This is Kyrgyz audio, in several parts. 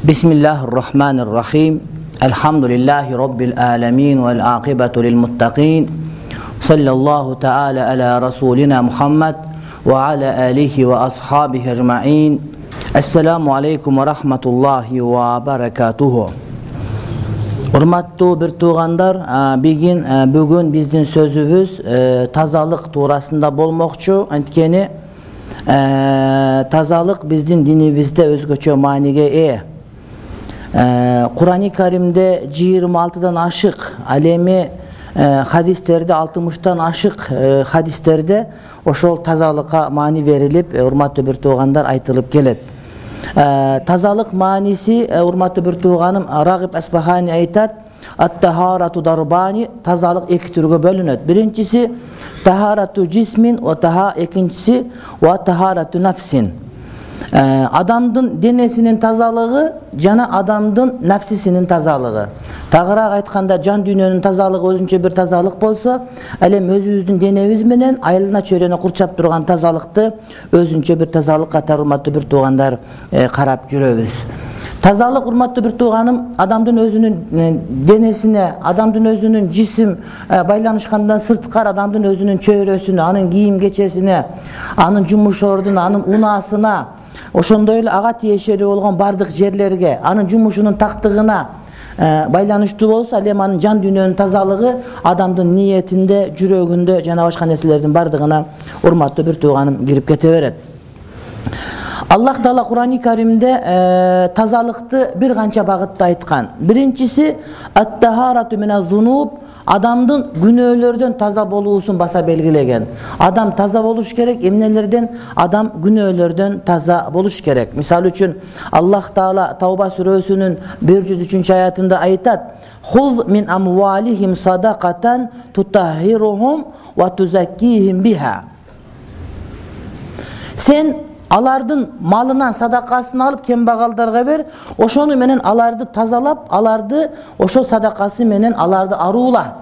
Bismillahirrahmanirrahim. Elhamdülillahi Rabbil alemin vel akibetu lil muttaqin. Sallallahu teala ala Rasulina Muhammed ve ala alihi ve ashabihi ecma'in. Esselamu aleykum ve rahmetullahi ve berekatuhu. Urmattуу bir tuğandar, bugün bizdin sözübüz tazalık tuğrasında bolmokçu. Antkeni tazalık bizdin dinibizde özgöçö maaniге Kur'an-ı Kerim'de 26'dan aşık, alemi hadislerde 60'tan aşık hadislerde oşol tazalıkka mani verilip urmatlı bir tuğandar aytılıp gelet. Tazalık manisi urmatlı bir tuğanım Ragib Esbahani aytat, at-taharatu darbani, tazalık iki türge bölünöt. Birincisi taharatu cismin, ikincisi ve taharatu nefsin. Adamdın denesinin tazalığı jana adamdın nefsisinin tazalığı. Tağıraak aytkanda can dünyanın tazalığı özünçө bir tazalık bolsa, elem özübüzdün denebиз менен айылына чөйрөнө курчап турган тазалыкты өзүнчө bir tazalık катары урматтуу bir туугандар карап жүрөбүз. Tazalık urmatlı bir tuğanım adamdın özünün denesine, adamdın özünün cisim baylanışkandan sırtkar adamdın özünün çöyrösüne, anın giyim geçesine, anın jumuş orduna, anın unasına, oşondoy эле ага тиешелүү болгон бардык жерлерге, анын жумушунун тактыгына байланыштуу болсо, ал эми анын жан дүйнөнүн тазалыгы адамдын ниетинде, жүрөгүндө жана башка нерселердин бардыгына урматтуу bir tuğanım кирип кете берет. Allah Taala Kur'an-ı Kerim'de tazalıkты bir kança bagıtта aytkan. Birincisi at-taharatu minez-zunub, adamdın günöөлөрдөн taza boluusun basa belgilegen. Adam taza boluş gerek, emnelerden adam günöөлөрдөн taza boluş gerek. Misal üçün Allah Taala Tavba surösünün 103. ayatında aytat: "Huz min amwalihim sadaqatan tutahhiruhum ve tuzakkihim biha." Sen alardın malından sadakasını alıp kembagaldarga ber, oşonu menen alardı tazalap, alardı oşo sadakası menen alardı aruula.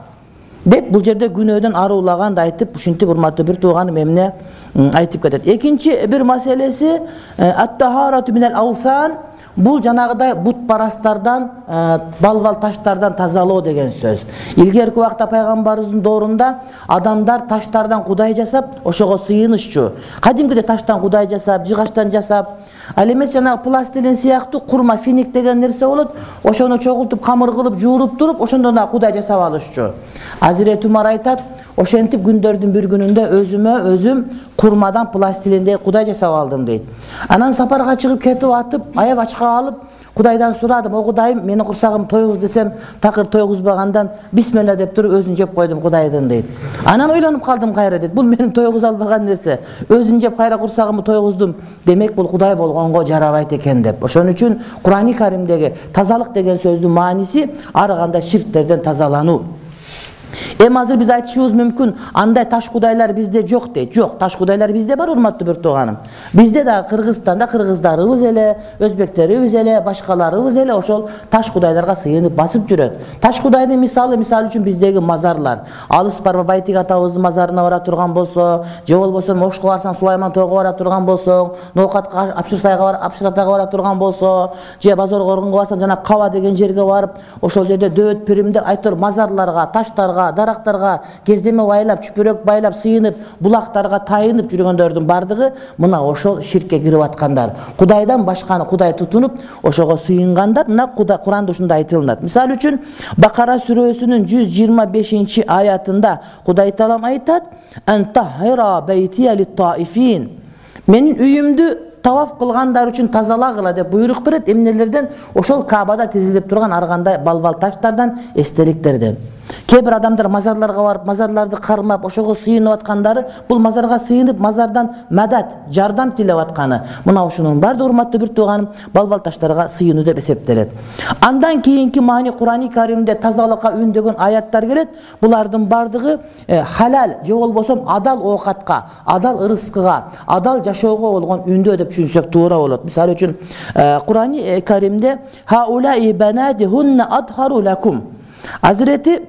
Dep bu jerde günөөдөн aruulagan da aytıp, uşintip urmattуу bir tuğanım emne aytıp ketet. Ekinci bir meselesi at-taharatu minel awsan. Бул жанагыдай бут парастардан, балбал таштардан тазалоо деген сөз. Илгерки убакта пайгамбарыбыздын доорунда адамдар таштардан кудай жасап, ошого сыйынышчу. Кадимкиде таштан кудай жасап, жыгачтан жасап, ал эмес жанагы пластилин сыяктуу курма финик деген нерсе болот. Ошону чогултуп, камыр кылып, жууруп туруп, ошондон да кудай жасап алышчу. Азирет Умар айтат, ошентип күндөрдүн bir günүндө өзүм курмадан пластилинде кудай жасап алдым дейт. Анан сапарга чыгып кетип атып, аяп ачка алып, Кудайдан сурадым, "О Кудайым, мени курсагым тойгуз" десем, такыр тойгузбагандан бисмилла деп туруп өзүн жеп койдум Кудайдын дейт. Анан ойлонуп калдым кайра дейт. Бул менин тойгуз албаган нерсе. Өзүн жеп кайра курсагымды тойгуздум. Демек бул Кудай болгонго жарабайт экен деп. Ошон үчүн Кур'ан-ы Каримдеги тазалык деген сөздүн мааниси ар кандай ширктерден тазалануу. Азыр биз айтышыбыз мүмкүн, андай таш кудайлар бизде жок дейт. Жок, таш кудайлар бизде бар, урматтуу bir туганым. Бизде да Кыргызстанда кыргыздарыбыз эле, өзбектерибиз эле, башкаларыбыз эле ошол таш кудайларга сыйынып басып жүрөт. Таш кудайдын мисалы үчүн биздеги мазарлар. Алыс барба Байтик атабыздын мазарына бара турган болсо, же болбосо Мошко барсаң Сулайман тойго бара турган болсоң, Ноокатка, Апшыратага бара турган болсо, же Базор Коргонго барсаң, жана Каба деген жерге барып, ошол жерде дөөт пиримде айтыр мазарларга, таштарга, дарактарга кездеме байлап, чүпөрөк байлап, сыйынып, булактарга тайынып жүргөндөрдүн бардыгы мына ошол ширкке кирип аткандар. Кудайдан башканы Кудай тутунуп, ошого сыйынгандар. Мына Куранда ушундай айтылат. Мисал үчүн Бакара сүрөсүнүн 125 аятында Кудай Таалам айтат: "Антахира байтия лит-таифин." Менин үйүмдү таваф кылгандар үчүн тазалагыла деп буйрук берет. Эмнелерден? Ошол Кабада тизилип турган ар кандай балбал таштардан, эстеликтерден. Кээ бир адамдар мазарларга барып, мазарларды кармап, ошого сыйынып аткандары, бул мазарга сыйынып, мазардан мадат, жардам тилеп атканы. Мына ушунун баардыгы урматтуу бир тууганым, балбал таштарга сыйынуу деп эсептелет. Андан кийинки маани Кур'ани Каримде тазалыкка үндөгөн аяттар келет. Булардын баардыгы халал же болбосо адал оокатка, адал ырыскыга, адал жашоого болгон үндөө деп түшүнсөк туура болот. Мисалы үчүн Кур'ани Каримде хаулаи банадихунна адхару лакум. Азирети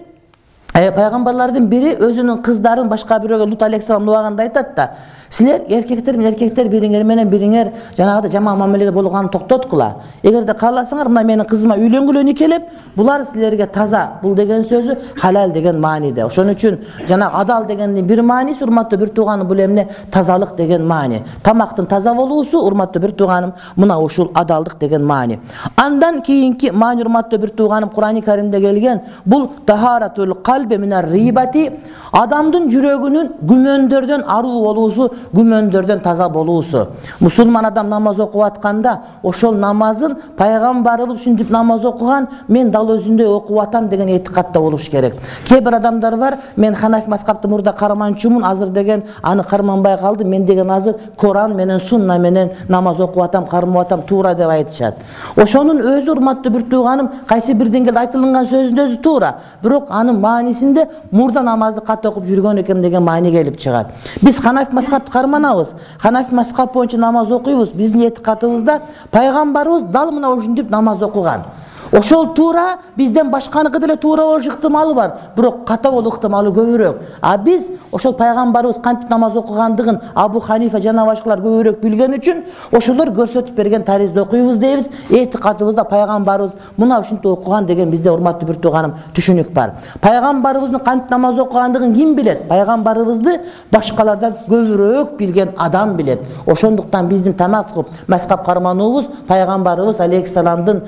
пайгамбарлардын бири өзүнүн кыздарын башка бирөөгө Лут алейхиссалам убагында айтат да, силер эркектер бириңер менен бириңер жанагыда жаман мамиледе болгонун токтоткула. Эгерде кааласаңар, мына менин кызыма үйлөнгүлө никелеп, булар силерге таза. Бул деген сөзү халал деген мааниде. Ошон үчүн жана адал дегендин бир мааниси, урматтуу бир тууганым, бул эмне? Тазалык деген маани. Тамактын таза болуусу, урматтуу бир тууганым, мына ушул адалдык деген маани. Андан кийинки маани, урматтуу бир тууганым, Кур'ани Каримде келген, бул тахаратул калби минар рибати, адамдын жүрөгүнүн күмөндөрдөн аруу болуусу, күмөндөрдөн таза болуусу. Мусулман адам намаз окуп атканда, ошол намазын пайгамбарыбыз ушинтип намаз окуган, мен дал өзүндөй окуп атам деген этикатта болуш керек. Кээ бир адамдар бар, мен Ханафи мазхабты мурда карманчумун, азыр деген аны карманбай калдым, мен деген азыр Коран менен Сунна менен намаз окуп атам, кармап атам, туура деп айтышат. Ошонун өзү, урматтуу бир тууганым, кайсы бир деңгээлде айтылган сөзүнүн өзү туура, бирок анын маанисинде мурда намазды кат окуп жүргөн экен деген маани келип чыгат. Биз Ханафи мазхабты карманабыз, Ханафи мазхаб боюнча намаз окуйбуз. Биздин этикатыбызда пайгамбарыбыз дал мына ушинтип намаз окуган. Ошол туура, бизден башканыкы деле туура болуш ыктымалы бар, бирок ката болуу ыктымалы көбүрөөк. А биз ошол пайгамбарыбыз кантип намаз окугандыгын Абу Ханифа жана башкалар көбүрөөк билген үчүн ошолор көрсөтүп берген таризде окуйбуз дейбиз. Этикатыбызда пайгамбарыбыз мына ушинтип окуган деген бизде, урматтуу бир тууганым, түшүнүк бар. Пайгамбарыбыздын кантип намаз окугандыгын ким билет? Пайгамбарыбызды башкалардан көбүрөөк билген адам билет. Ошондуктан биздин тамак мазхаб кармануубуз пайгамбарыбыз алейхиссаламдын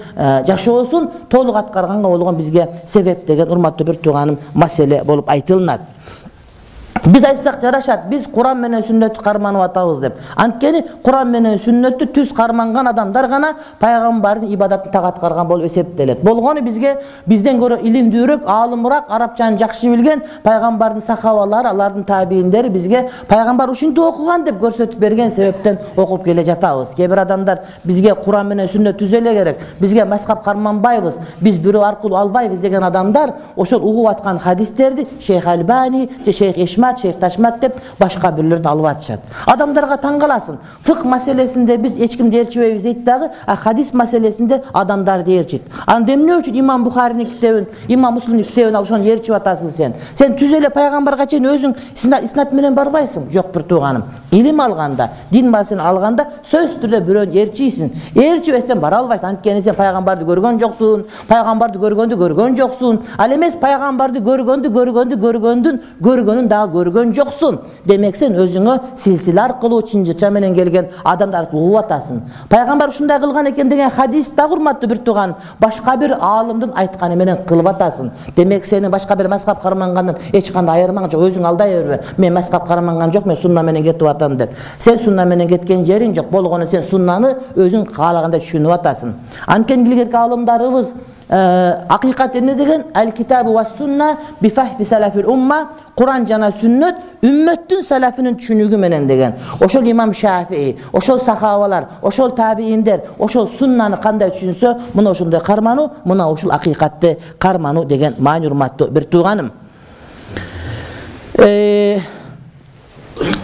жашоосун толук аткарганга болгон бизге себеп деген, урматтуу бир тууганым, маселе болуп айтылат. Биз айтсак жарашат, биз Куран менен сүннөттү карманып атабыз деп. Анткени Куран менен сүннөттү түз карманган адамдар гана пайгамбардын ибадатын так аткарган болуп эсептелет. Болгону бизге бизден көрө илимдүүрөөк, аалымыраак, арабчаны жакшы билген пайгамбардын сахабалары, алардын табийиндери бизге пайгамбар ушинтип окуган деп көрсөтүп берген себептен окуп келе жатабыз. Кээ бир адамдар бизге Куран менен сүннөт түз эле керек, бизге мазхаб карманбайбыз, биз бирөө аркылуу албайбыз деген адамдар ошол угуп аткан хадистерди Шейх Альбани же Шейх Ишмат, Шейх Ташмат деп башка бирлерден алып атышат. Адамдарга таң каласың. Фык маселесинде биз эч кимди ээрчибейбиз дейт дагы, а хадис маселесинде адамдарды ээрчит. Анда эмне үчүн Имам Бухаринин китебин, Имам Муслимдин китебин ошону ээрчип атасың сен? Сен түз эле пайгамбарга чейин өзүң иснат менен барбайсың. Жок бир тууганым. Илим алганда, дин маселесин алганда сөзсүз түрдө бирөөнү ээрчийсиң. Ээрчибестен бара албайсың. Анткени сен пайгамбарды көргөн жоксуң, пайгамбарды көргөн жоксуң. Ал эмес пайгамбарды көргөндүн дагы көргөн жоксуң. Демек сен өзүңө силсиле аркылуу, чынжырча менен келген адамдар аркылуу угуп атасың. Пайгамбар ушундай кылган экен деген хадис да, урматтуу бир тууган, башка бир аалымдын айтканы менен кылып атасың. Демек сени башка бир мазхаб кармангандан эч кандай айырмаң жок. Өзүң алдай бербе. Мен мазхаб карманган жок, мен сунна менен кетип атам деп. Сен сунна менен кеткен жериң жок. Болгону сен суннаны өзүң каалагандай түшүнүп атасың. Анткени илгерки аалымдарыбыз акыйкат эмне деген? Ал-китабу ва сунна би фахфи салафил умма, Куран жана сүннөт үммөттүн салафынын түшүнүгү менен деген. Ошол Имам Шафии, ошол сахабалар, ошол табийиндер, ошол суннаны кандай түшүнсө, мына ошондой кармануу, мына ушул акыйкатты кармануу деген маани, урматтуу бир тууганым.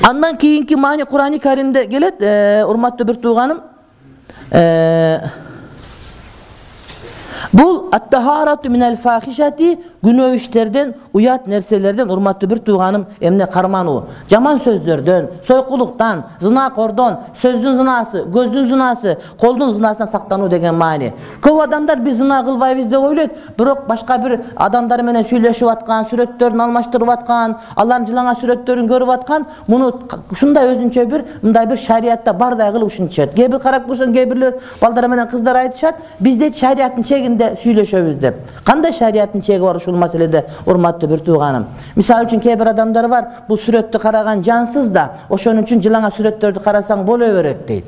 Андан кийинки маани Кур'ани Каримде келет, урматтуу бир тууганым. Бул ат-тахарату минал фахишати, күнөө иштерден, уят нерселерден, урматтуу бир тууганым, эмне кармануу. Жаман сөздөрдөн, сойкулуктан, зынакордон, сөздүн зынасы, көздүн зынасы, колдун зынасынан сактануу деген маани. Көп адамдар биз зына кылбайбыз деп ойлойт, бирок башка бир адамдар менен сүйлөшүп аткан, сүрөттөрүн алмаштырып аткан, алардын жылаңа сүрөттөрүн көрүп аткан, муну ушундай өзүнчө бир, мындай бир шариятта бардай кылып ушинтишет. Кээ бир карап көрсөң, кээ бирлер балдар менен кыздар айтышат, бизде шариаттын чегинде сүйлөшөбүз деп. Кандай шариаттын чеги бар ушул маселеде, урматтуу бир тууганым? Мисалы үчүн кээ бир адамдар бар, бул сүрөттү караган жансыз да, ошон үчүн жылаңа сүрөттөрдү карасаң боло берет дейт.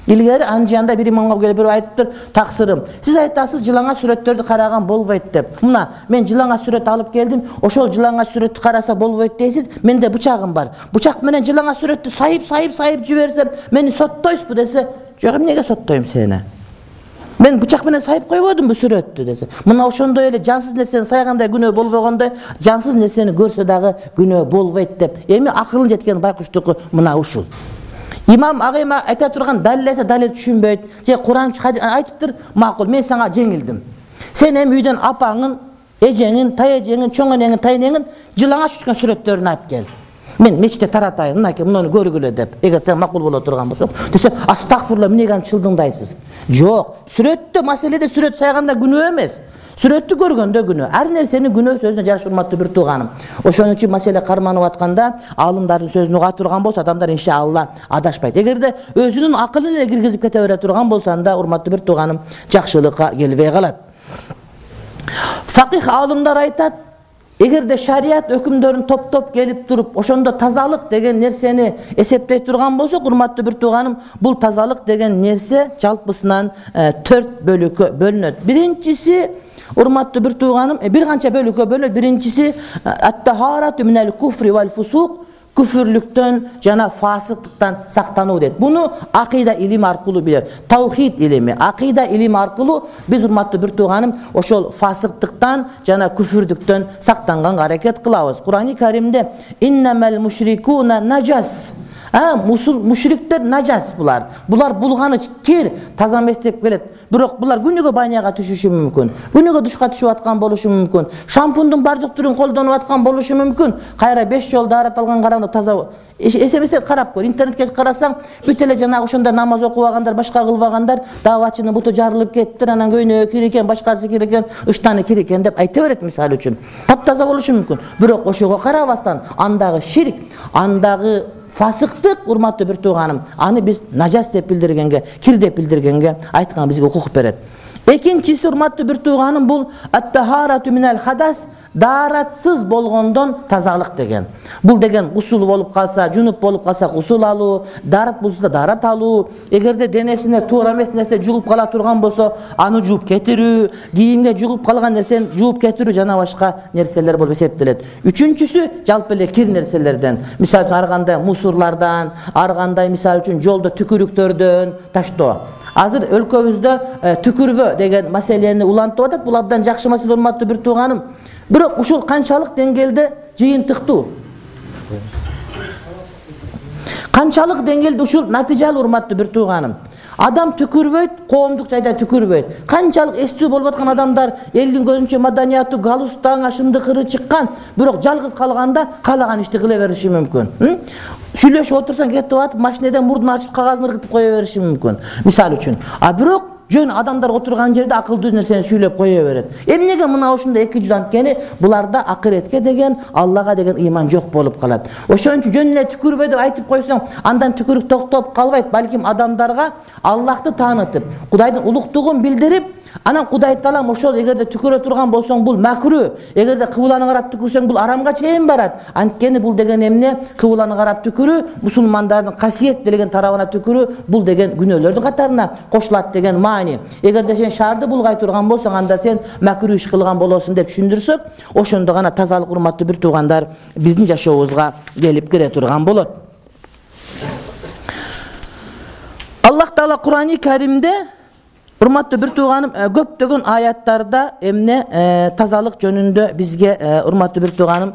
Илгери Анжанда бир имамга келип айтыптыр, таксырым. Сиз айтасыз жылаңа сүрөттөрдү караган болбойт деп. Мына мен жылаңа сүрөт алып келдим, ошол жылаңа сүрөттү караса болбойт дейсиз. Менде бычагым бар. Бычак менен жылаңа сүрөттү сайып жиберсем, мени соттойсузбу десе, жок, эмнеге соттойм сени? Мен бычак менен сайып койбодумбу сүрөттү десе. Мына ошондой эле жансыз нерсени сайгандай күнөө болбогондой, жансыз нерсени көрсө дагы күнөө болбойт деп. Эми акылын жеткен байкуштуку мына ушул. Имам агайма айта турган далилесе далил түшүнбөйт. Же Куран айтыптыр, макул, мен сага жеңилдим. Сен эми үйдөн апаңын, эжеңин, тайэжеңин, чоң энеңин, тайнеңин жылаңа түшкөн сүрөттөрүн алып кел. Мен мечитте таратайын, мынакей муну көргүлө деп. Эгер сен макул боло турган болсоң, десе, астагфирулла, эмнеге аны чылдыңдайсыз? Жок, сүрөттө маселеде сүрөт сайганда күнөө эмес. Сүрөттү көргөндө күнөө. Ар нерсенин күнөө сөзүнө жараша урматтуу бир тууганым. Ошон үчүн маселе карманып атканда алымдардын сөзүн уга турган болсо, адамдар иншалла адашпайт. Эгерде өзүнүн акылын эле киргизип кете бере турган болсо, анда урматтуу бир тууганым жакшылыкка келбей калат. Факих алымдар айтат, эгерде шарият өкүмдөрүн топтоп келип туруп, ошондо тазалык деген нерсени эсептей турган болсо, урматтуу бир тууганым, бул тазалык деген нерсе жалпысынан 4 бөлүккө бөлүнөт. Биринчиси, урматтуу бир тууганым, бир канча бөлүккө бөлүнөт. Биринчиси ат-тахарату минал куфри вал фусук, күфүрлүктөн жана фасыктыктан сактануу дейт. Буну акыйда илими аркылуу билет. Таухид илими, акыйда илими аркылуу биз урматтуу бир тууганым ошол фасыктыктан жана күфүрдүктөн сактанганга аракет кылабыз. Курани Каримде иннамал мушрикуна наджас. Мушриктер наджас булар. Булар булганыч, кир, таза эмес деп келет. Бирок булар күнүгө баняга түшүшү мүмкүн. Күнүгө душка түшүп аткан болушу мүмкүн. Шампундун бардык түрүн колдонуп аткан болушу мүмкүн. Кайра 5 жол даарат алган караңда таза эсебесе карап көр. Интернетке карасаң, бүт эле жанагы ошондо намаз окубагандар, башка кылбагандар, давачынын буту жарылып кетти, анан көйнөгү кир экен, башкасы кир экен, ыштаны кир экен деп айта берет мисалы үчүн. Таптаза болушу мүмкүн. Бирок ошого карабастан, андагы ширк, андагы фасыктык, урматтуу бир тууганым, аны биз нажас деп билдиргенге, кир деп билдиргенге айткан бизге укук берет. Экинчиси, урматтуу бир тууганым, бул ат-тахарату минал хадас, дааратсыз болгондон тазалык деген. Бул деген гусул болуп калса, жунуп болуп калса гусул алуу, даарат болсо даарат алуу, эгерде денесине туура эмес нерсе жугуп кала турган болсо, аны жууп кетирүү, кийимге жугуп калган нерсени жууп кетирүү жана башка нерселер болуп эсептелет. Үчүнчүсү жалпы эле кир нерселерден, мисалы үчүн ар кандай мусурлардан, ар кандай мисалы үчүн жолдо түкүрүктөрдөн таштоо. Азыр өлкөбүздө түкүрбө деген маселени улантып атат. Бул абдан жакшы маселе, урматтуу бир тууганым. Бирок ушул канчалык деңгээлде жыйынтыктуу? Канчалык деңгээлде ушул натыйжалуу, урматтуу бир тууганым? Адам түкүрбөйт, коомдук жайда түкүрбөйт. Канчалык эстүү болуп аткан адамдар, элдин көзүнчө маданияту, галустан, ашымдыкыры чыккан, бирок жалгыз калганда каалаган ишти кыла бериши мүмкүн. Сүйлөшүп отурсаң кетип атып, машинеден мурдун ачып кагазын ыргытып кое бериши мүмкүн, мисалы үчүн. Бирок жөн адамдар отурган жерде акылдуу нерсени сүйлөп кое берет. Эмнеге мына ушундай 200 анткени буларда акыретке деген, Аллага деген ыйман жок болуп калат. Ошон үчүн жөн эле түкүрбөй деп айтып койсоң, андан түкүрүк токтоп калбайт, балким адамдарга Аллахты таанытып, Кудайдын улуктугун билдирип, анан Кудай таалам ошол эгерде түкүрө турган болсоң бул макру, эгерде кыбланы карап түкүрсөң бул арамга чейин барат. Анткени бул деген эмне? Кыбланы карап түкүрүү мусулмандардын касиет делеген тарабына түкүрүү, бул деген күнөөлөрдүн катарына кошулат деген маани. Эгерде сен шаарды булгай турган болсоң, анда сен макру иш кылган болосуң деп түшүндүрсөк, ошондо гана тазалык, урматтуу бир туугандар, биздин жашообузга келип кире турган болот. Аллах Таала Курани Каримде, урматтуу бир тууганым, көптөгөн аяттарда эмне тазалык жөнүндө бизге, урматтуу бир тууганым,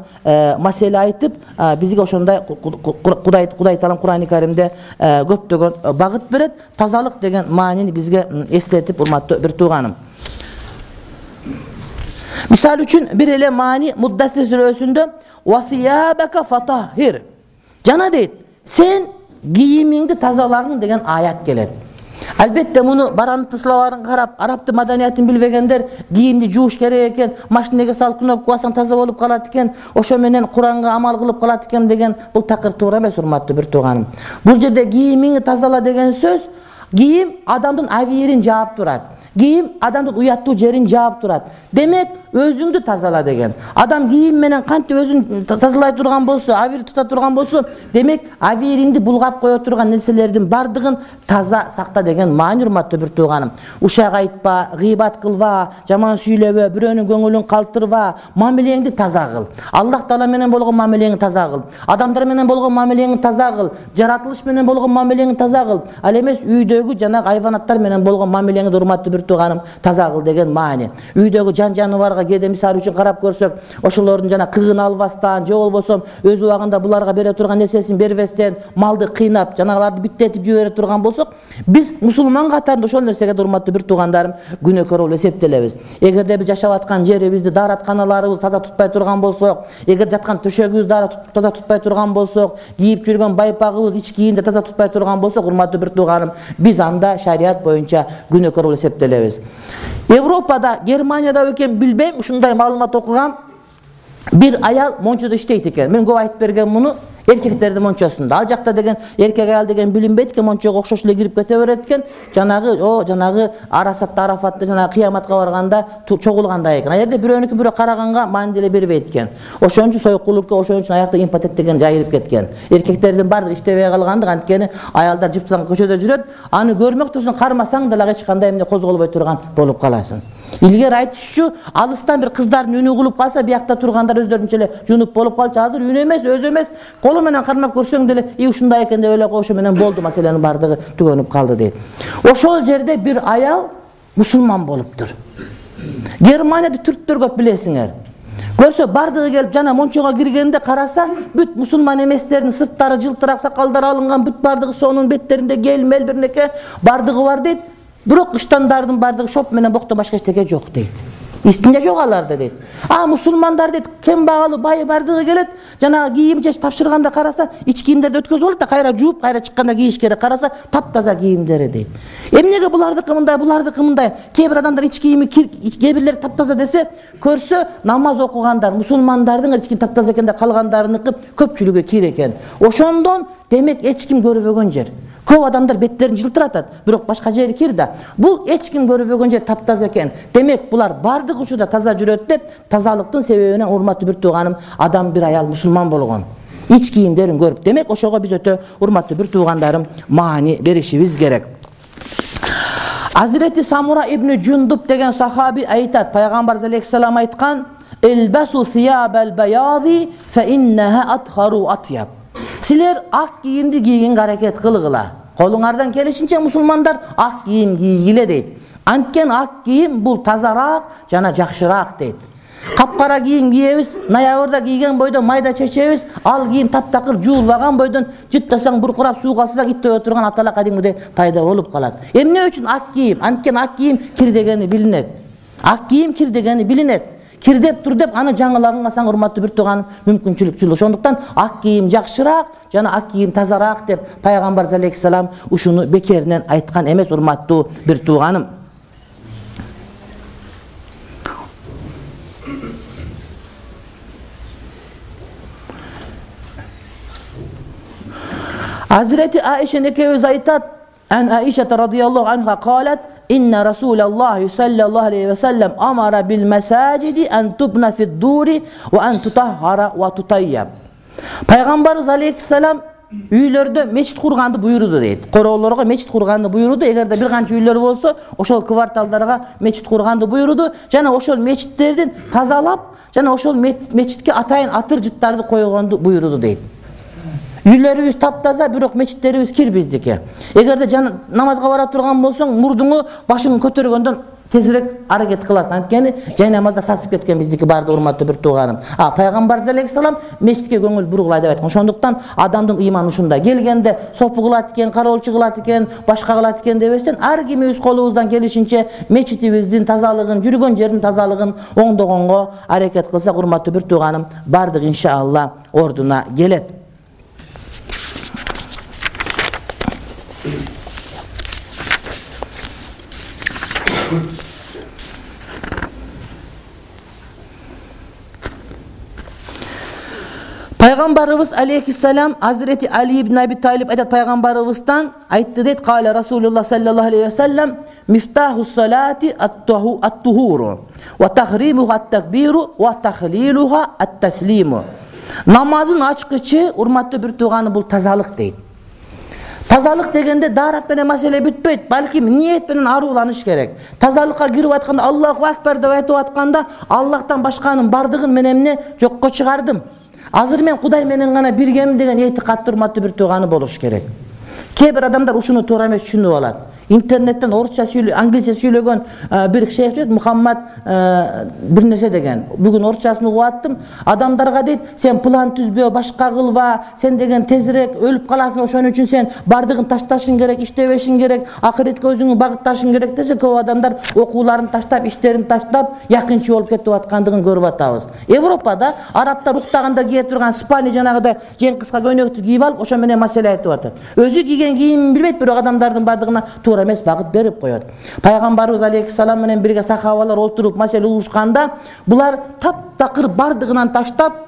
маселе айтып, бизге ошондой Кудай Таалам Курани Каримде көптөгөн багыт берет. Тазалык деген маанини бизге эстетип, урматтуу бир тууганым. Мисалы үчүн бир эле маани Муддассир сүрөсүндө васиябака фатахир. Жана дейт, сен кийимиңди тазалагың деген аят келет. Албетте муну баранты словарын карап, арабтын маданиятын билбегендер кийимди жууш керек экен, машинеге салып кнопка бассаң таза болуп калат экен, ошо менен Куранга амал кылып калат экен деген бул такыр туура эмес, урматтуу бир тууганым. Бул жерде кийимиңди тазала деген сөз, кийим адамдын авирин жаап турат. Кийим адамдын уяттуу жерин жаап турат. Демек, өзүңдү тазала деген. Адам кийим менен кантип өзүн тазалай турган болсо, авир тута турган болсо, демек авириңди булгап кое турган нерселердин бардыгын таза сакта деген маани, урматтуу бир тууганым. Ушак айтпа, гыйбат кылба, жаман сүйлөбө, бирөөнүн көңүлүн калтырба, мамилеңди таза кыл. Аллах Таала менен болгон мамилеңди таза кыл. Адамдар менен болгон мамилеңди таза кыл. Жаратылыш менен болгон мамилеңди таза кыл. Ал эмес үйдөгү жана хайванаттар менен болгон мамилеңди, урматтуу бир тууганым, таза кыл деген маани. Үйдөгү жан жаныбарга кээде мисалы үчүн карап көрсөк, ошолордун жана кыгын албастан, же болбосо өз убагында буларга бере турган нерсесин бербестен, малды кыйнап, жанагыларды биттетип жибере турган болсок, биз мусулман катарында ошол нерсеге урматтуу бир туугандарым күнөөкөр болуп эсептелебиз. Эгерде биз жашап аткан жерибизди, дааратканаларыбызды таза тутпай турган болсок, эгер жаткан төшөгүбүздү таза тутпай турган болсок, кийип жүргөн байпагыбыз, ич кийимди таза тутпай турган болсок, урматтуу бир тууганым, биз анда шарият боюнча күнөөкөр болуп эсептелебиз. Европада, Германияда экен билбейм, ушундай маалымат окугам. Bir ayal monçoda иштейт экен. Мен көп айтып берген муну эркектердин мончосунда. Ал жакта деген эркек аял деген билинбейт экен, мончого окшош эле кирип кете берет экен. Жанагы Арасатта, Арафатта жанагы кыяматка барганда чогулгандай экен. А жерде бирөөнүкү бирөө караганга маани деле бербейт экен. Ошон үчүн союккулукка, ошон үчүн аякта импотент деген жайылып кеткен. Эркектердин бардыгы иштебей калгандык, анткени аялдар жыптан көчөдө жүрөт. Аны көрмөк турсуң, кармасаң деле эч кандай эмне козголбой турган болуп каласың. Илгери айтышчу, алыстан бир кыздардын үнү угулуп калса, биякта тургандар өздөрүнчө эле жунуп болуп калчу. Азыр үнү эмес, өзү эмес, колу менен кармап көрсөң деле, ушундай экен деп ойлоп ошо менен болду, маселенин бардыгы түгөнүп калды дейт. Ошол жерде бир аял мусулман болуптур. Германияда түрктөр көп билесиңер. Көрсө бардыгы келип жана мончого киргенде караса, бүт мусулман эместердин сырттары жылтырак, сакалдары алынган, бүт бардыгы сонун, беттеринде гелмел бирнеке бардыгы бар дейт. Бирок кыштандардын бардыгы шоп менен боктон башка эчтеке жок дейт. Истинче жок аларда дейт. Мусулмандар дейт, кембагалы, бай бардыгы келет, жана кийим же тапшырганда караса, ич кийимдерди өткөзүп алат да, кайра жууп, кайра чыкканда кийиш керек. Караса, таптаза кийимдери дейт. Эмнеге булардыкы мындай? Кээ бир адамдар ич кийими кээ бирлери таптаза десе, көрсө намаз окугандар, мусулмандардын ич кийим таптаза экенде, калгандарыныкы көпчүлүгү кир экен. Ошондон демек эч ким көрбөгөн жер. Көп адамдар беттерин жылтыратат, бирок башка жери кир да. Бул эч ким көрбөгөн жер таптаза экен. Демек булар бардык учурда таза жүрөт деп, тазалыктын себебинен урматтуу бир тууганым, адам бир аял мусулман болгон. Ич кийимдерин көрүп, демек ошого биз өтө урматтуу бир туугандарым маани беришибиз керек. Азирети Самура ибн Жундуб деген сахаби айтат, пайгамбар алейхиссалам айткан: "Элбасу сиябал баязи фа иннаха атхару атяб." Силер ак кийимди кийгенге аракет кылгыла. Колуңардан келишинче мусулмандар ак кийим кийгиле дейт. Анткен ак кийим бул тазараак жана жакшыраак дейт. Капкара кийим кийебиз, ноябрда кийген бойдон майда чечебиз, ал кийим таптакыр жуулбаган бойдон жыттасаң буркурап сууга салсаң иттеп турган атала кадимгидей пайда болуп калат. Эмне үчүн ак кийим? Анткен ак кийим кир дегени билинет. Ак кийим кир дегени билинет. Кирдеп тур деп аны жаңылаганга саң урматтуу бир тууган мүмкүнчүлүк жул. Ошондуктан ак кийим жакшыраак жана ак кийим тазараак деп пайгамбар алейхиссалам ушуну бекеринен айткан эмес, урматтуу бир тууганым. Hazreti Aişe ekebimiz aytat, an Aişe radıyallahu anha qalet: "İnne Resulullah sallallahu aleyhi ve sellem amara bil mesacidi en tubna fi'd duri ve en tutahhara ve tutayyab." Peygamberimiz aleyhisselam üylerde meçit kurgandı buyurdu deyit. Koroğullarga meçit kurgandı buyurdu. Eğer de bir kança üyler bolsa, oşol kvartallarga meçit kurgandı buyurdu. Jana oşol meçitlerden tazalap, jana oşol meçitke atayın atır jıttardı koygandı buyurdu deyit. Үйлерибиз таптаза, бирок мечиттерибиз кир биздики. Эгерде намазга бара турган болсоң, мурдуңу башыңы көтөргөндөн тезирээк аракет кыласың. Анткени жай намазда сасып кеткен биздики барды, урматтуу бир тууганым. Пайгамбар алейхиссалам мечитке көңүл бургула деп айткан. Ошондуктан адамдын ыйманы ушунда. Келгенде сопу кылат экен, кароолчу кылат экен, башка кылат экен дебестен, ар кимибиз колубуздан келишинче мечитибиздин тазалыгын, жүргөн жердин тазалыгын оңдогонго аракет кылсак, урматтуу бир тууганым, бардык иншалла ордуна келет. Пайgambarыбыз алейхиссалам Hazreti Ali ibn Abi Talib aytat Пайgambarыбыздан айтты дейт, каля Расулуллах саллаллаху алейхи ва саллям мифтаху салати ат-тухуру ва тахримуха ат-такбиру ва тахлилуха ат-таслиму. Намазын ачкычы, урматтуу бир тууганы, бул тазалык дейт. Тазалык дегенде дарат менен маселе бүтпөйт, балким ниет менен арууланыш керек. Тазалыкка кирип атканда Аллаху акбар деп айтып атканда Аллахтан башканын бардыгын мен эмне жокко чыгардым. Азыр мен Кудай менен гана биргемин деген этикат урматтуу бир тууганы болуш керек. Кээ бир адамдар ушуну туура эмес түшүнүп алат. Интернеттен орусча англисче сүйлөгөн бир шейх дейт, Мухаммад бир нерсе деген. Бүгүн орусчасын угуп аттым. Адамдарга дейт, сен план түзбө, башка кылба, сен деген тезирээк өлүп каласың, ошон үчүн сен бардыгын ташташың керек, иштебешиң керек, акыретке өзүңү багытташың керек десе, көп адамдар окууларын таштап, иштерин таштап, якынчы болуп кетип аткандыгын көрүп атабыз. Европада арабтар уктаганда кие турган спани жанагыдай жең кыска көйнөктү кийип алып, ошо менен маселе айтып атат. Өзү кийген кийимин билбейт, бирок адамдардын бардыгына туура эмес багыт берип коет. Пайгамбарыбыз алейхиссалам менен бирге сахабалар отуруп маселе угушканда, булар таптакыр бардыгынан таштап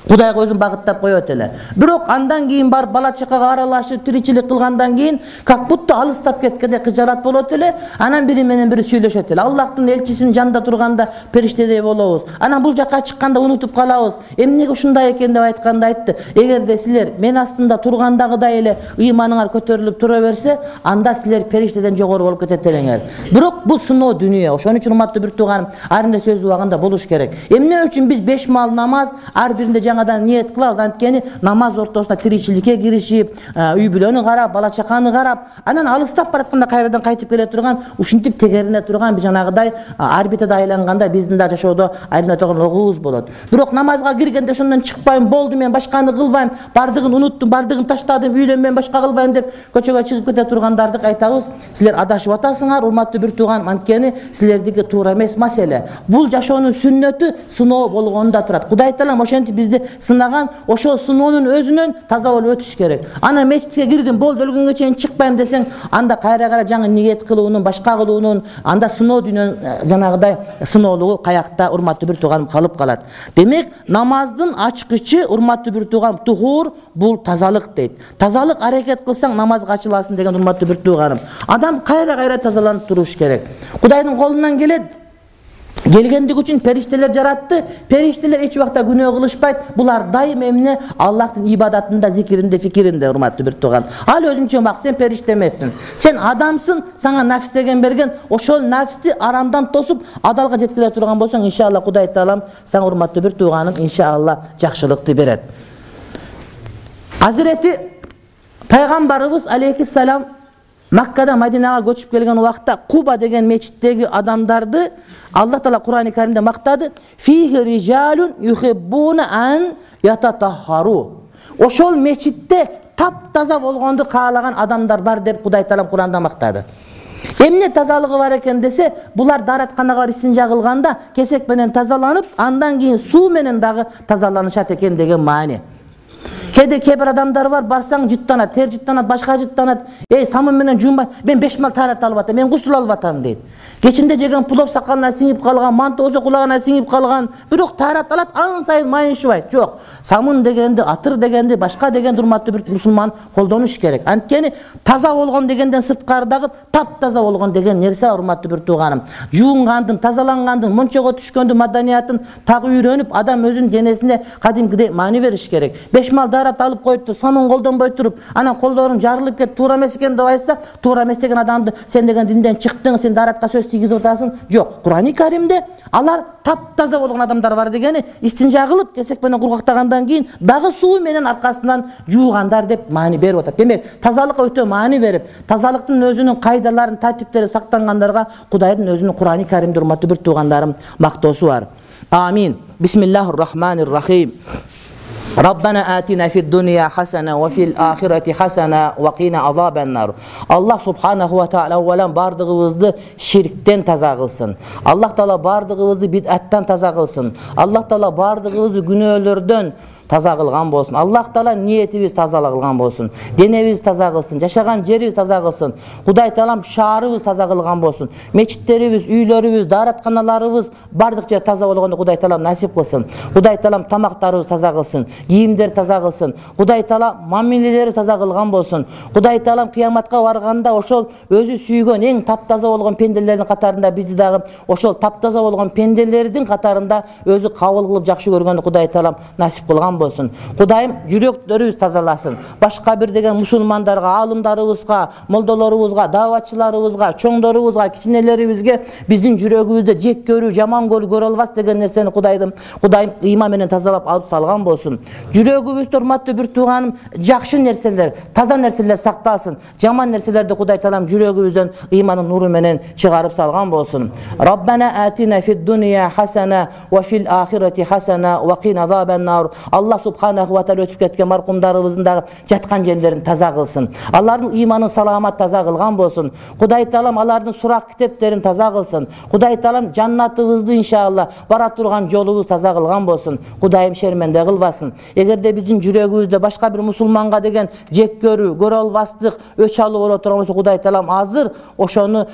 Кудайга өзүн багыттап коет эле. Бирок андан кийин барып бала чакага аралашып, тиричилик кылгандан кийин как будто алыстап кеткенде кыжалат болот эле. Анан бири менен бири сүйлөшөт эле. Аллахтын элчисинин жанында турганда периштедей болобуз. Анан бул жакка чыкканда унутуп калабыз. Эмнеге ушундай экен деп айтканда айтты. Эгерде силер мен астында тургандагыдай эле ыйманыңар көтөрүлүп тура берсе, анда силер периштеден жогору болуп кетет элеңер. Бирок бул сыноо дүнүйө. Ошон үчүн урматтуу бир тууганым, ар бир сөз убагында болуш керек. Эмне үчүн биз 5 маал намаз ар биринде жаңадан ниет кылабыз, анткени намаз ортосунда тиричиликке киришип, үй бүлөнү карап, бала чаканы карап, анан алыстап баратканда кайрадан кайтып келе турган, ушинтип тегерине турган биз жанагыдай орбитада айланганда биздин да жашоодо айлана турган огубуз болот. Бирок намазга киргенде ошондон чыкпайм, болду мен башканы кылбайм, бардыгын уnuттум, бардыгын таштадым, үйлөнбөйм, башка кылбайм деп көчөгө чыгып кете тургандарды айтабыз. Силер адашып атасыңар, урматтуу бир тууган, анткени силердики туура эмес маселе. Бул жашоонун сүннөтү сыноо болгонунда турат. Кудай Таалам ошентип бизди сынаган, ошол сыноонун өзүнөн таза болуп өтүш керек. Анан мечитке кирдим, болду өлгөнгө чейин чыкпайм десең, анда кайра жаңы ниет кылуунун, башка кылуунун, анда сыноо дүйнөнүн жанагыдай сыноолугу каякта, урматтуу бир тууганым, калып калат. Демек, намаздын ачкычы, урматтуу бир тууганым, тухур, бул тазалык дейт. Тазалык аракет кылсаң намазга ачыласың деген урматтуу бир тууганым. Адам кайра тазаланып туруш керек. Кудайдын колунан келет. Келгендик үчүн периштелер жаратты. Периштелер эч убакта күнөө кылышпайт. Булар дайым эмне? Аллахтын ибадатында, зикиринде, фикиринде, урматтуу бир тууган. Ал өзүнчө бак, сен периште эмессиң. Сен адамсың, сага нафс деген берген. Ошол нафсти арамдан тосуп, адалга жеткире турган болсоң, иншалла Кудай Таалам сага урматтуу бир тууганым, иншалла жакшылыкты берет. Hazreti Пайгамбарыбыз алейхиссалам Маккадан Мадинага көчүп келген убакта Куба деген мечиттеги адамдарды Аллах Таала Кур'ан-ы Каримде мактады. Фихи риджалун юхиббуна ан ятатахару. Ошол мечитте таптаза болгонду каалаган адамдар бар деп Кудай Таалам Кур'анда мактады. Эмне тазалыгы бар экен десе, булар даратканага исинжа кылганда кесек менен тазаланып, андан кийин суу менен дагы тазаланышат экен деген маани. Кээ бир адамдар бар, барсаң жыттанат, тер жыттанат, башка жыттанат. Самын менен жуунбай, мен 5 мал тарат алып атам, мен гусул алып атам дейт. Кечинде жеген плов сакалына сиңип калган, манты болсо кулагына сиңип калган, бирок тарат алат, ан сайын майыншыбайт. Жок. Самын дегенди, атыр дегенди, башка деген урматтуу бир мусулман колдонуш керек. Анткени таза болгон дегенден сырткардагы таптаза болгон деген нерсе, урматтуу бир тууганым. Жуунгандын, тазалангандын, мончого түшкөндүн маданиятын так үйрөнүп, адам өзүнүн денесине кадимкидей маани бериш керек. 5 мал дарат алып коюпту, самын колдонбой туруп, анан колдорун жарылып кет, туура эмес экен деп айтса, туура эмес деген адамды сен деген динден чыктың, сен даратка сөз тийгизип атасың. Жок, Кур'ан-ы Каримде алар таптаза болгон адамдар бар дегени, истинжа кылып, кесек менен кургактагандан кийин дагы суу менен аркасынан жуугандар деп маани берип атат. Демек, тазалыкка өтө маани берип, тазалыктын өзүнүн кайдаларын, тартиптери сактангандарга Кудайдын өзүнүн Кур'ан-ы Каримде урматтуу бир туугандарым мактоосу бар. Амин. Бисмиллахир-рахманир-рахим. Rabbana atina fid dunya hasana wa fil akhirati hasana wa qina azabannar. Allah subhanahu wa taala awwalan bardыгыбызды şirkten таза кылсын. Allah taala bardыгыбызды бид'аттан таза кылсын. Allah taala bardыгыбызды күнөөлөрдөн, таза кылган болсун. Аллах Таала ниетибиз таза кылган болсун. Денебиз таза кылсын, жашаган жерибиз таза кылсын. Кудай Таалам шаарыбыз таза кылган болсун. Мечиттерибиз, үйлөрүбүз, дааратканаларыбыз бардык жер таза болгондо Кудай Таалам насип кылсын. Кудай Таалам тамактарыбыз таза кылсын, кийимдер таза кылсын. Кудай Таала мамилелери таза кылган болсун. Кудай Таалам кыяматка барганда ошол өзү сүйгөн эң таптаза болгон пенделердин катарында бизди дагы ошол таптаза болгон пенделердин катарында өзү кабыл кылып жакшы көргөндү Кудай Таалам насип кылган болсун. Кудайым жүрөктөрүбүз тазаласын. Башка бир деген мусулмандарга, аалымдарыбызга, молдолорубузга, дааватчыларыбызга, чоңдорубузга, кичинелерибизге биздин жүрөгүбүздө жек көрүү, жаман көрө албас деген нерсени Кудайым ыйман менен тазалап алып салган болсун. Жүрөгүбүздө урматтуу бир тууганым жакшы нерселер, таза нерселер сакталсын. Жаман нерселерди Кудай Таалам жүрөгүбүздөн ыймандын нуру менен чыгарып салган болсун. Раббана атина фид дунья хасана ва фил ахирати хасана ва кина азабан нар. Аллах субханаху ва тааля өтүп кеткен маркумдарыбыздын дагы жаткан жерлерин таза кылсын. Алардын ыйманын саламат таза кылган болсун. Кудай Таалам алардын сурак китептерин таза кылсын. Кудай Таалам жаннатыбызды иншалла бара турган жолубуз таза кылган болсун. Кудайым шерменде кылбасын. Эгерде биздин жүрөгүбүздө башка бир мусулманга деген жек көрүү албастык, өч алуу боло турган болсо Кудай Таалам азыр ошону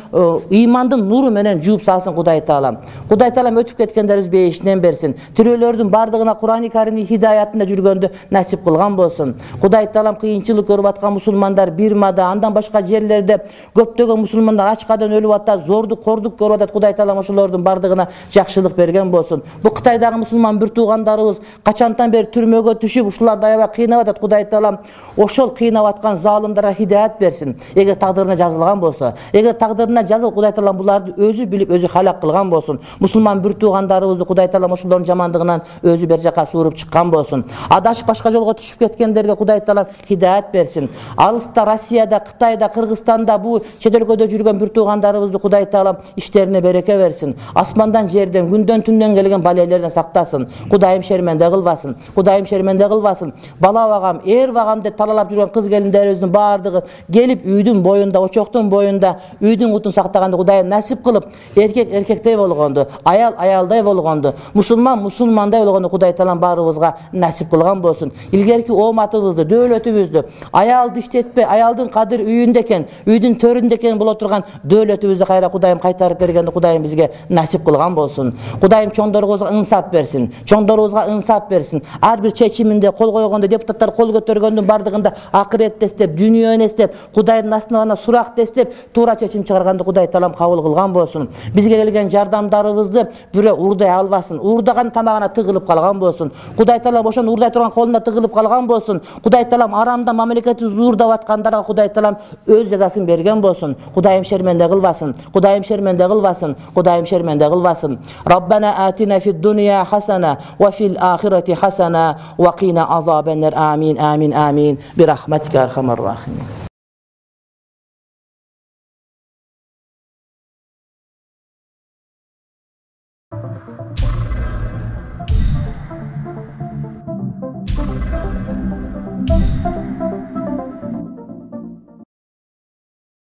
ыймандын нуру менен жууп салсын Кудай Таалам. Кудай Таалам өтүп кеткендерибиз бейишинен берсин. Тирүүлөрдүн бардыгына Кур'ан-ы Каримдин хидаятында жүргөндү насип кылган болсун. Кудай Таалам кыйынчылык көрүп аткан мусулмандар Бирмада, андан башка жерлерде көптөгөн мусулмандар ачкадан өлүп атат, зордук, кордук көрүп атат. Кудай Таалам ошолордун бардыгына жакшылык берген болсун. Бу Кытайдагы мусулман бир туугандарыбыз качантан бери түрмөгө түшүп, ушуларды аябай кыйнап атат. Кудай Таалам ошол кыйнап аткан залымдарга хидаят берсин. Эгер тагдырына жазылган болсо, эгер тагдырына жазылып Кудай Таалам буларды өзү билип, өзү халак кылган болсун. Мусулман бир туугандарыбызды Кудай Таалам ошолордун жамандыгынан өзү бер жака suurup чыккан болсун. Адашып башка жолго түшүп кеткендерге Кудай Таалам хидаят берсин. Алыста, Россияда, Кытайда, Кыргызстанда бу чет өлкөдө жүргөн бир туугандарыбызды Кудай Таалам иштерине береке берсин. Асмандан, жерден, күндөн, түндөн келген балелерден сактасын. Кудайым шерменде кылбасын. Кудайым шерменде кылбасын. Бала багам, эр багам деп талалап жүргөн кыз келиндерибиздин бардыгы келип үйдүн боюнда, очоктун боюнда үйдүн утун сактаганды Кудайым насип кылып, эркек эркектей болгонду, аял аялдай болгонду, мусулман мусулмандай болгонду Кудай Таалам баарыбызга насип кылган болсун. Илгерки ооматыбызды, дөөлөтүбүздү, аялды иштетпей, аялдын кадыр үйүндө экен, үйдүн төрүндө экен боло турган дөөлөтүбүздү кайра Кудайым кайтарып бергенди Кудайым бизге насип кылган болсун. Кудайым чоңдорубузга ынсап берсин. Чоңдорубузга ынсап берсин. Ар бир чечиминде кол койгондо, депутаттар кол көтөргөндүн бардыгында акыретти эстеп, дүйнөнү эстеп, Кудайдын астына суракты эстеп, туура чечим чыгарганды Кудай Таалам кабыл кылган болсун. Бизге келген жардамдарыбызды бирөө уурдай албасын. Уурдаган тамагына тыгылып калган болсун. Кудай Таалам ошону уурдай турган колуна тыгылып калган болсун. Кудай Таалам арамда мамлекетти уурдап аткандарга Кудай Таалам өз жазасын берген болсун. Кудайым шерменде кылбасын. Кудайым шерменде кылбасын. Кудайым шерменде кылбасын. Раббана атина фид дунья хасана ва фил ахирати хасана ва кина азабан нар. Амин, амин, амин. Бирахматика архамар рахимин.